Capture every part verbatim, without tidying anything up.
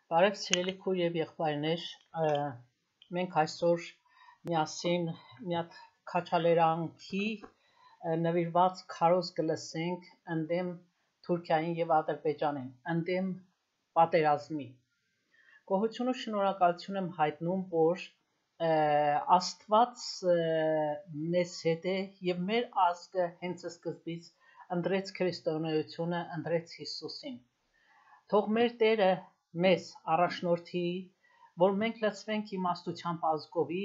Բարև սիրելի քույր եւ եղբայրներ, մենք այսօր միասին մի հատ քաջալերանքի նվիրված քարոզ կլսենք ընդդեմ Թուրքիային եւ Ադրբեջանին, ընդդեմ պատերազմի։ Գոհություն ու շնորհակալություն եմ հայտնում, որ Աստված մեզ հետ է եւ մեր ազգը հենց սկզբից ընտրեց քրիստոնեությունը, ընտրեց Հիսուսին։ Թող մեր Տերը մեզ առաջնորդի, որ մենք լցվենք իմաստությամբ ազգովի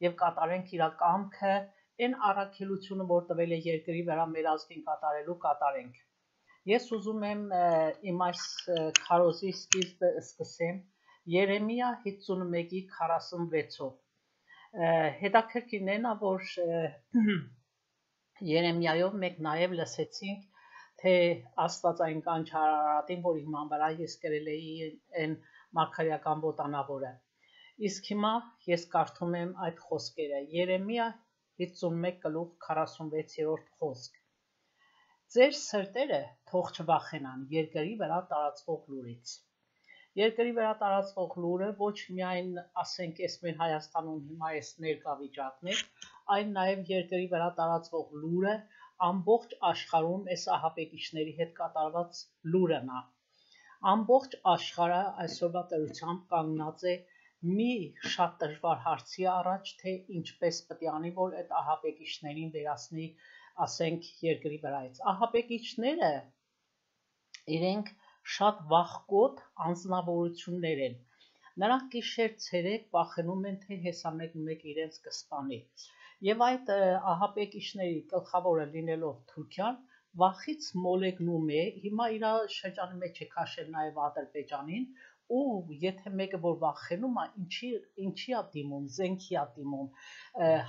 եւ կատարենք իր կամքը, այն առաքելությունը, որ տվել է երկրի վրա մեր ազգին կատարելու, կատարենք։ Ես ուզում եմ իմ այս քարոզի սկիզբը սկսեմ Երեմիա հինգսունմեկի քառասունվեցով։ Հետաքրքիրն է նա, որ Երեմիայով մենք նաեւ լսեցինք, թե Աստվածային կանչարարատին, որ իման վրա ես գրել էի այն մարգարեական ոտանավորը։ Իսկ հիմա ես կարդում եմ այդ խոսքերը։ Երեմիա հինգսունմեկ գլուխ քառասունվեցերորդ խոսք։ Ձեր սրտերը թող չվախենան երկրի վրա տարածվող լուրից։ Երկրի վրա տարածվող լուրը ոչ միայն ասենք էս մեր Հայաստանում հիմա էս ներկա վիճակն է, այլ նաև երկրի վրա տարածվող լուրը ամբողջ աշխարհում էս ահաբեկիչների հետ կատարված լուրն է։ Ամբողջ աշխարհը այսօրվա դրությամբ կանգնած է մի շատ դժվար հարցի առաջ, թե ինչպես պետք է անի, որ այդ ահաբեկիչներին վերացնի, ասենք երկրի վրայից։ Ահաբեկիչները իրենք շատ վախկոտ անձնավորություններ են։ Նրանք գիշեր ցերեկ վախենում են, թե հեսա մեկ-մեկ իրենց կսպանի։ Եվ այդ ահաբեկիչների գլխավորը լինելով Թուրքիան, վախից մոլեգնում է, հիմա իր շրջանի մեջ է քաշել նաև Ադրբեջանին, ու եթե մեկը որ վախենում է, ինչի ինչի է դիմում, զենքի է դիմում,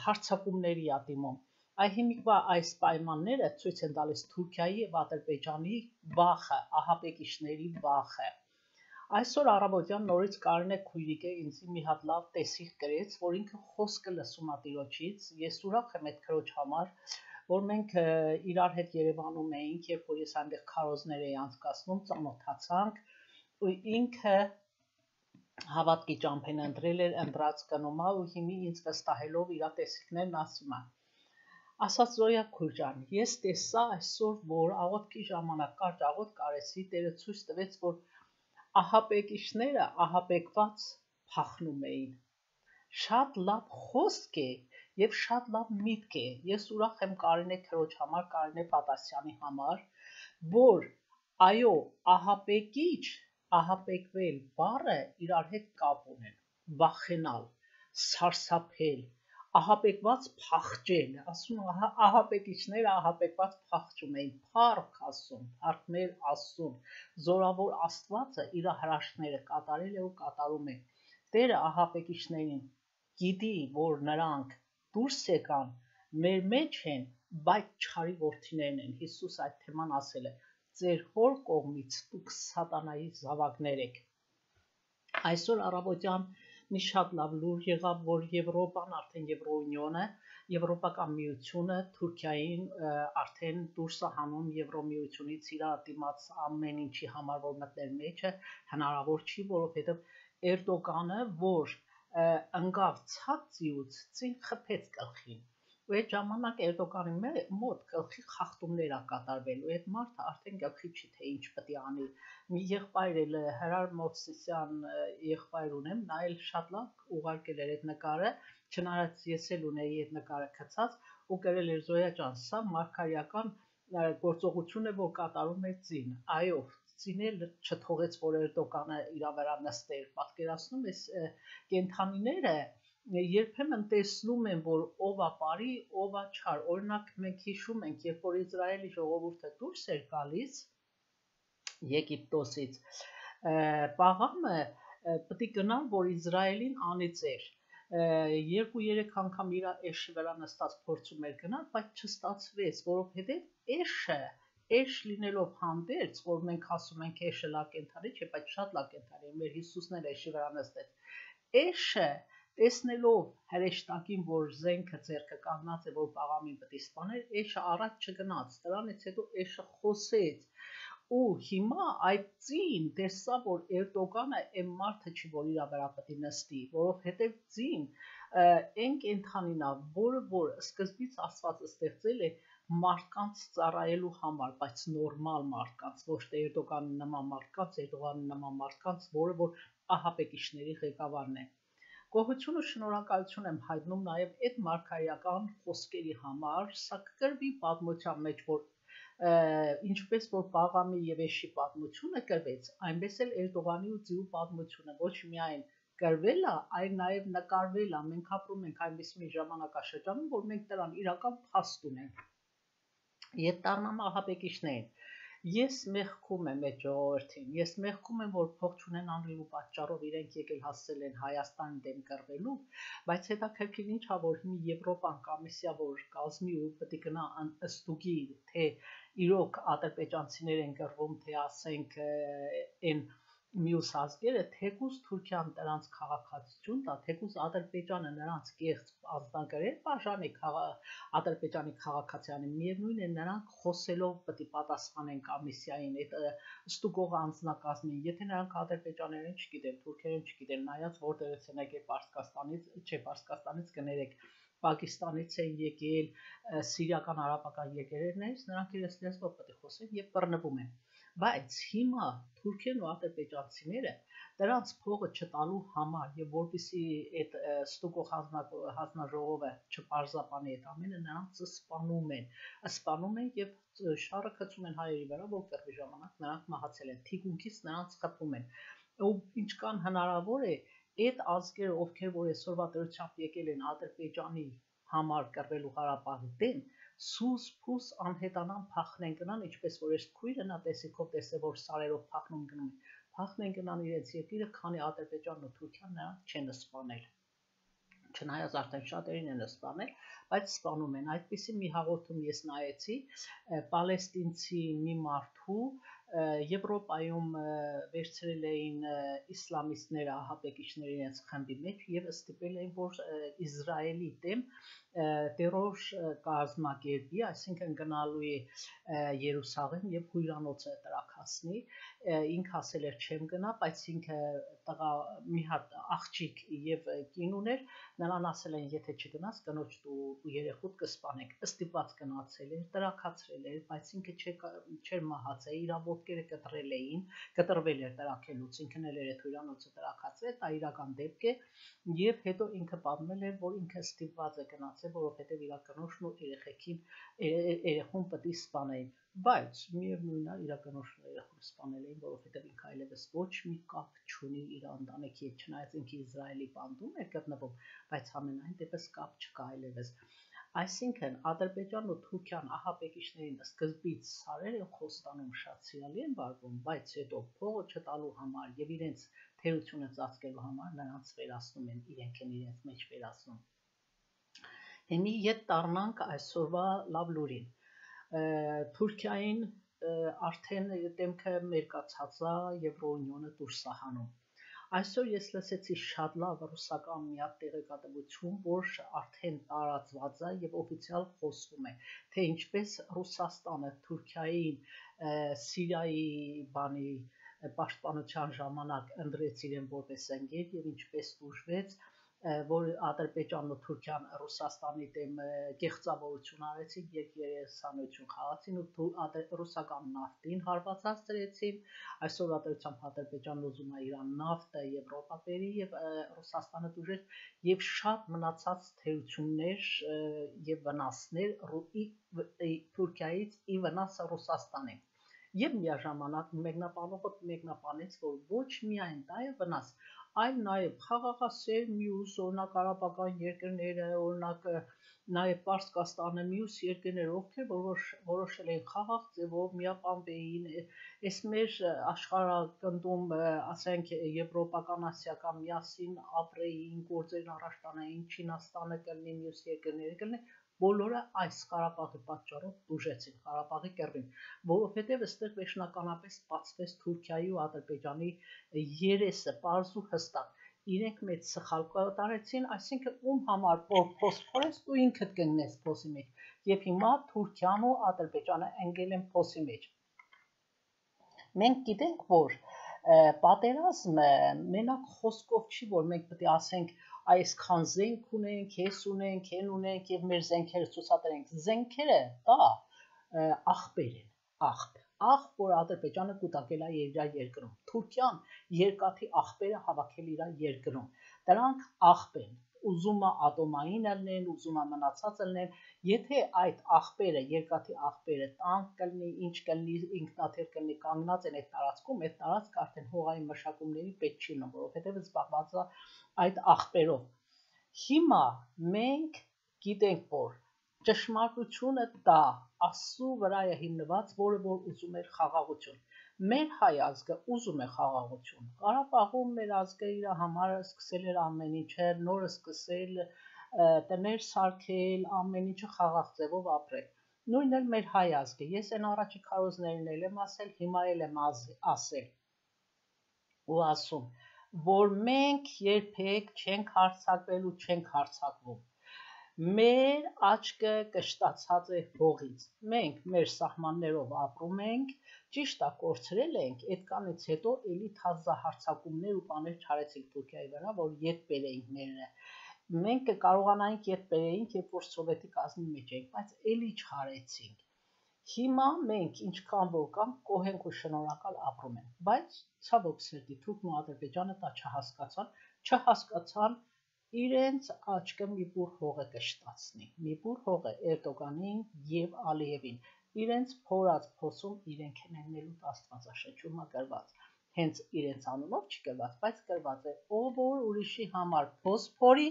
հարձակումների է դիմում։ Այ հիմիկվա այս պայմանները ցույց են տալիս Թուրքիայի եւ Ադրբեջանի վախը, ահաբեկիչների վախը։ Այսօր առավոտյան նորից Կարինե քույրիկը ինձ մի հատ լավ տեսիլ գրեց, որ ինքը խոսքը լսում է Տիրոջից, ես ուրախ եմ այդ քրոջ համար, որ մենք իրար հետ Երևանում էինք, երբ որ ես այնտեղ քարոզներ էի անցկացնում, ծանոթացանք, ու ինքը հավատքի ճամփեն ընտրել էր, ընտրած գնում է, ու հիմի ինձ վստահելով իր տեսիլքներն ասում է։ Ասաց Զոյա քույր ջան, ես տեսա այսօր, որ աղոթքի ժամանակ կարճ աղոթք արեցի, Տերը ցույց տվեց, որ ահաբեկիչները ահաբեկված փախնում էին։ Շատ լավ խոսք է եւ շատ լավ միտք է։ Ես ուրախ եմ Կարինե քրոջ համար, Կարինե Պատասյանի համար, որ այո, ահաբեկիչ, ահաբեկվել բառը իրար հետ կապ ունեն։ Վախենալ, սարսափել, ահաբեկված փախչել, ասում ահաբեկիչները ահաբեկված փախչում էին, փառք ասում, փառքներ ասում, զորավոր Աստվածը իր հրաշքները կատարել է ու կատարում է։ Տերը ահաբեկիչներին գիտի, որ նրանք դուրս եկան, մեր մեջ են, բայց չարի որդիներն են։ Հիսուս այդ թեման ասել է. ձեր հոր կողմից դուք սատանայի զավակներ եք։ Այսօր առավոտյան մի շատ լավ լուր եղավ, որ Եվրոպան, արդեն Եվրոյունիոնը, Եվրոպական միությունը Թուրքիային արդեն դուրս է հանում Եվրոմիությունից իր դիմաց ամեն ինչի համար, որ մտներ մեջը, հնարավոր չի, որովհետև Էրդոգանը, որ ընկավ ցածիուց, ցին խփեց գլխին։ Ու այդ ժամանակ Էրդոգանի մոտ գլխի խախտումներ ա կատարվել, ու այդ մարդը արդեն գլխի չի թե ինչ պետք է անի։ Մի եղբայր էլ Հրար Մովսիսյան եղբայր ունեմ, նա էլ շատ լավ ուղարկել էր այդ նկարը, չնայած ես էլ ունեի այդ նկարը գցած, ու գրել էր Զոյա ջան, սա մարգարեական գործողություն է, որ կատարում է ծին։ Այո, ծին էլ չթողեց, որ Էրդոգանը իր վրա նստեր։ Պատկերացնում ես կենթանիները երբեմն տեսնում են, որ ով է բարի, ով է չար։ Օրինակ մենք հիշում ենք, երբ որ Իսրայելի ժողովուրդը դուրս էր գալիս Եգիպտոսից, Պաղամը պետք է գնալ, որ Իսրայելին անիծեր։ Երկու-երեք անգամ իր էշի վրա նստած փորձում էր գնալ, բայց չստացվեց, որովհետև էշը, էշ լինելով հանդերձ, որ մենք ասում ենք էշը լավ կենդանի չէ, բայց շատ լավ կենդանի է, մեր Հիսուսն էլ էշի վրա նստեց։ Էշը տեսնելով հրեշտակին, որ զենքը ձեռքը կանգնած է, որ Պաղամին պետք է սպաներ, էշը առաջ չգնաց, դրանից հետո էշը խոսեց, ու հիմա այդ ծին տեսա, որ Էրդողանը այն մարդը չի, որ իր վրա պետք է նստի, որովհետև ծին այն կենթանին է, որը որ սկզբից Աստված ստեղծել է մարդկանց ծառայելու համար, բայց նորմալ մարդկանց, ոչ թե Էրդողանի նման մարդկանց, Էրդողանի նման մարդկանց, որը որ ահաբեկիչների ղեկավարն է։ Գոհություն ու շնորհակալություն եմ հայտնում նաև այդ մարգարեական խոսքերի համար, սա կգրվի պատմության մեջ, որ ինչպես որ Բաղամի եւ Էշի պատմությունը կրվեց, այնպես էլ Էրդողանի ու Ձիու պատմությունը ոչ միայն կրվել է, այլ նաև նկարվել է։ Մենք ապրում ենք այնպես մի ժամանակաշրջանում, որ մենք դրան իրական փաստ ունենք։ Եվ դառնամ ահաբեկիչներին։ Ես մեղքում եմ այդ ժողովրդին, ես մեղքում եմ, որ փող չունենալու պատճառով իրենք եկել հասել են Հայաստանի դեմ կռվելու, բայց հետաքրքիր ինչ է, որ հիմա Եվրոպան կոմիսիա, որ կազմի ու պետք է գնա ըստուգի, թե իրոք ադրբեջանցիներ են կռվում, թե ասենք այն մյուս ազգերը, թեկուզ Թուրքիան նրանց քաղաքացիություն տա, թեկուզ Ադրբեջանը նրանց կեղծ անձնագրեր բաժանի Ադրբեջանի քաղաքացիանի, միևնույն է նրանք խոսելով պետք է պատասխանեն կոմիսիային, այդ ստուգող անձնակազմին, եթե նրանք ադրբեջաներեն չգիտեն, թուրքերեն չգիտեն, նայած որտեղից են եկել Պարսկաստանից, չէ, Պարսկաստանից կներեք, Պակիստանից են եկել, սիրիական արաբական եկերերներից, նրանք իրենց լեզվով պետք է խոսեն եւ բռնվում են։ Բայց հիմա թուրքերն ու ադրբեջանցիները դրանց փողը չտալու համար եւ որպեսի այդ ստուգող հանձնաժողովը չպարզապանի այդ ամենը, նրանց սպանում են, սպանում են եւ շարը գցում են հայերի վրա, որ կռվի ժամանակ նրանք մահացել են, թիկունքից նրանց խփում են։ Ու ինչքան հնարավոր է այդ ազգերը, ովքեր որ այսօրվա դրությամբ եկել են Ադրբեջանի համար կռվելու Ղարաբաղի դեմ, սուս փուս անհետանան փախնեն գնան, ինչպես որ այս քույրը նա տեսիքով տեսե, որ սարերով փախնում գնում են, փախնեն գնան իրենց երկիրը, քանի Ադրբեջանն ու Թուրքիան նրանց չեն սպանել։ Չնայած արդեն շատերին են սպանել, բայց սպանում են։ Այդպիսի մի հաղորդում ես նայեցի պալեստինցի մի մարդու, Եվրոպայում վերցրել էին իսլամիստները, ահաբեկիչները իրենց խմբի մեջ եւ ստիպել էին, որ Իսրայելի դեմ տերոր կազմակերպի, այսինքն գնալու է Երուսաղեմ եւ հյուրանոցը տրաքացնի, ինքը ասել էր չեմ գնա, բայց ինքը տղա մի հատ աղջիկ եւ կին ուներ, նրան ասել են եթե չգնաս կնոջ ու երեխուդ կսպանենք, ստիպված գնացել էր, տրաքացրել էր, բայց ինքը չէր մահացել, իր ոտքերը կտրել էին, կտրվել էր տրաքելուց, ինքն էլ էր այդ հյուրանոցը տրաքացրել, դա իրական դեպք է եւ հետո ինքը պատմել էր, որ ինքը ստիպված է գնացել, որովհետև իր կնոջն ու երեխեքին երեխուն պետք է սպանեին, բայց միևնույնն է իր կնոջն ու երեխուն սպանել էին, որովհետև ինքը այլևս ոչ մի կապ չունի իր ընտանիքի հետ, չնայած ինքը Իսրայելի բանդում էր գտնվում, բայց ամենայն դեպս կապ չկա այլևս։ Այսինքն Ադրբեջանն ու Թուրքիան ահաբեկիչներին սկզբից սարեր են խոստանում, շատ սիրալի են վարվում, բայց հետո փողը չտալու համար եւ իրենց թերությունը ծածկելու համար նրանց վերացնում են, իրենք են իրենց մեջ վերացնում։ Հիմի ետ տառնանք այսօրվա լավ լուրին։ Թուրքիային արդեն դեմքը մերկացած է Եվրոունիոնը դուրս է հանում։ Այսօր ես լսեցի շատ լավ ռուսական մի հատ տեղեկատվություն, որ արդեն տարածված է եւ օֆիցիալ խոսվում է, թե ինչպես Ռուսաստանը Թուրքիային Սիրիայի բանի պաշտպանության ժամանակ ընտրեց իրեն որպես ընկեր եւ ինչպես դժվեց, որ Ադրբեջանն ու Թուրքիան Ռուսաստանի դեմ կեղծավորություն արեցին եւ երեսանություն խաղացին ու ռուսական նավթին հարվածացրեցին, այսօր ադրությամբ Ադրբեջանն ուզում է իր նավթը Եվրոպա բերի եւ Ռուսաստանը դժվեց եւ շատ մնացած թերություններ եւ վնասներ Թուրքիայից ի վնաս Ռուսաստանի եւ միաժամանակ մեկնաբանողը մեկնաբանեց, որ ոչ միայն դա է վնաս, այլ նաև խաղաղասեր մյուս օրինակ արաբական երկրները, օրինակ նաև Պարսկաստանը մյուս երկրները, ովքեր որոշել են խաղաղ ձևով միապանվեին, այս մեր աշխարհակնդում, ասենք եվրոպական, ասիական միասին ապրեին, գործերն առաջ տանեին, Չինաստանը կլինի, մյուս երկրները կլինի, բոլորը այս Ղարաբաղի պատճառով դժեցին Ղարաբաղի կռվին, որովհետև այստեղ վերջնականապես բացվեց Թուրքիայի ու Ադրբեջանի երեսը, պարզ ու հստակ, իրենք մեծ սխալ կատարեցին, այսինքն ում համար փոս փորես ու ինքդ կընկնես փոսի մեջ, եւ հիմա Թուրքիան ու Ադրբեջանը ընկել են փոսի մեջ։ Մենք գիտենք, որ պատերազմը մենակ խոսքով չի, որ մենք պետք է ասենք այսքան զենք ունենք, հես ունենք, հեն ունենք եւ մեր զենքերը ցուցադրենք։ Զենքերը դա աղբեր են, աղբ, աղբ, որ Ադրբեջանը կուտակել է իր երկրում։ Թուրքիան երկաթի աղբերը հավաքել իր երկրում։ Դրանք աղբ են։ Ուզում է ատոմային ելնեն, ուզում է մնացած ելնեն, եթե այդ աղբերը, երկաթի աղբերը տանկ կլինի, ինչ կլինի, ինքնաթիռ կլինի, կանգնած են այդ տարածքում, այդ տարածքը արդեն հողային մշակումների պետք չի լինում, որովհետև զբաղված է այդ աղբերով։ Հիմա մենք գիտենք, որ ճշմարտությունը դա Աստծու վրա է հիմնված, որը որ ուզում էր խաղաղություն։ Մեր հայ ազգը ուզում է խաղաղություն։ Ղարաբաղում մեր ազգը իր համար սկսել էր ամեն ինչը, նոր սկսել տներ սարքել, ամեն ինչը խաղաղ ձևով ապրել։ Նույնն էլ մեր հայ ազգը։ Ես այն առաջի քարոզներն էլ եմ ասել, հիմա էլ եմ ասել ու ասում, որ մենք երբեք չենք հարձակվել ու չենք հարձակվում։ Մեր աչքը կշտացած է հողից։ Մենք մեր սահմաններով ապրում ենք, ճիշտ է կորցրել ենք, այդքանից հետո էլի թազահարձակումներ ու բաներ չարեցինք Թուրքիայի վրա, որ ետ բերեինք մերը։ Մենք կարողանայինք ետ բերեինք, երբ որ սովետի կազմի մեջ էինք, բայց էլի չարեցինք։ Հիմա մենք ինչքան որ կամ կոհենք ու շնորհակալ ապրում ենք, բայց ցավոք սրտի Թուրքն ու Ադրբեջանը դա չհասկացան, չհասկացան իրենց աչքը մի բուր հողը կշտացնի, մի բուր հողը Էրդողանին եւ Ալիևին, իրենց փորած փոսում իրենք են ելնելու Աստվածաշնչում գրված, հենց իրենց անունով չի գրված, բայց գրված է, ով որ ուրիշի համար փոս փորի,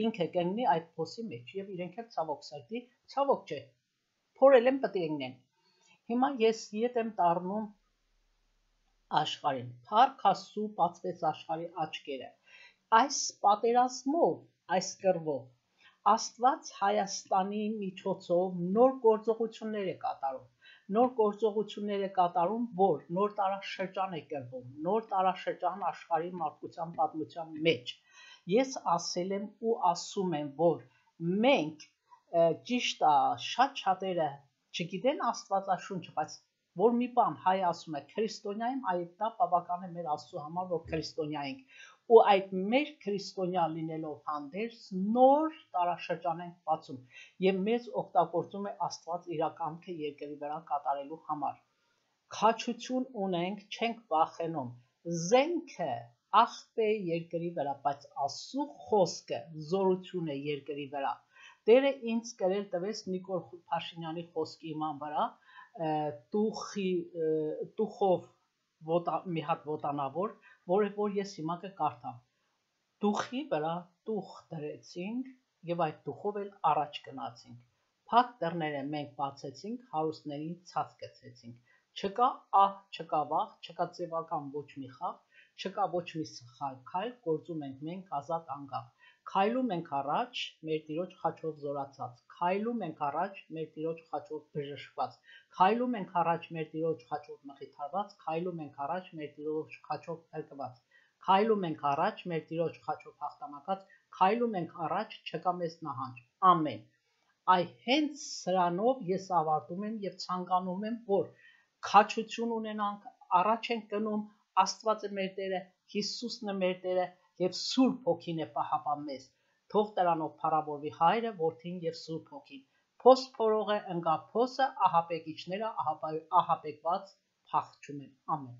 ինքը կընկնի այդ փոսի մեջ եւ իրենք էլ ցավոք սրտի, ցավոք չէ, փորել են պետք է ընկնեն։ Հիմա ես ետ եմ տառնում աշխարհին, Փառք Աստծու բացվեց աշխարհի աչքերը։ Այս պատերազմով, այս կռվով Աստված Հայաստանի միջոցով նոր գործողություններ է կատարում, նոր գործողություններ է կատարում, որ նոր տարաշրջան է կրվում, նոր տարաշրջան աշխարհի մարդկության պատմության մեջ։ Ես ասել եմ ու ասում եմ, որ մենք ճիշտ է, շատ շատերը չգիտեն Աստվածաշունչը, բայց որ մի բան հայ ասում է քրիստոնյա եմ, այդ դա բավական է մեր Աստծու համար, որ քրիստոնյա ենք։ Ու այդ մեր քրիստոնյա լինելով հանդերձ նոր տարաշրջան ենք բացում եւ մեզ օգտագործում է Աստված իր կամքը երկրի վրա կատարելու համար։ Քաջություն ունենք, չենք վախենում։ Զենքը աղբ է երկրի վրա, բայց Աստծու խոսքը զորություն է երկրի վրա։ Տերը ինձ կրել տվեց Նիկոլ Փաշինյանի խոսքի իման վրա, տուխի տուխով մի հատ ոտանավոր, որը որ ես հիմա կկարդամ։ Տուխի վրա տուխ դրեցինք եւ այդ տուխով էլ առաջ գնացինք։ Փակ դռները մենք բացեցինք, հարուստներին ցած գցեցինք։ Չկա ահ, չկա վախ, չկա ձևական ոչ մի խաղ, չկա ոչ մի սխալ քայլ, գործում ենք մենք ազատ անկախ։ Քայլում ենք առաջ, մեր Տիրոջ խաչով զորացած, քայլում ենք առաջ, մեր Տիրոջ խաչով բժշկված, քայլում ենք առաջ, մեր Տիրոջ խաչով մխիթարված, քայլում ենք առաջ, մեր Տիրոջ խաչով փրկված, քայլում ենք առաջ, մեր Տիրոջ խաչով հաղթանակած, քայլում ենք առաջ, չկա մեզ նահանջ։ Ամեն։ Այ հենց սրանով ես ավարտում եմ եւ ցանկանում եմ, որ քաջություն ունենանք, առաջ ենք գնում, Աստված է մեր Տերը, Հիսուսն է մեր Տերը եւ Սուրբ Հոգին է պահապան մեզ։ Թող դրանով փառավորվի Հայրը, Որդին եւ Սուրբ Հոգին։ Փոս փորողը ընկա փոսը, ահապեկիչները ահապեկված փախչում են։ Ամեն։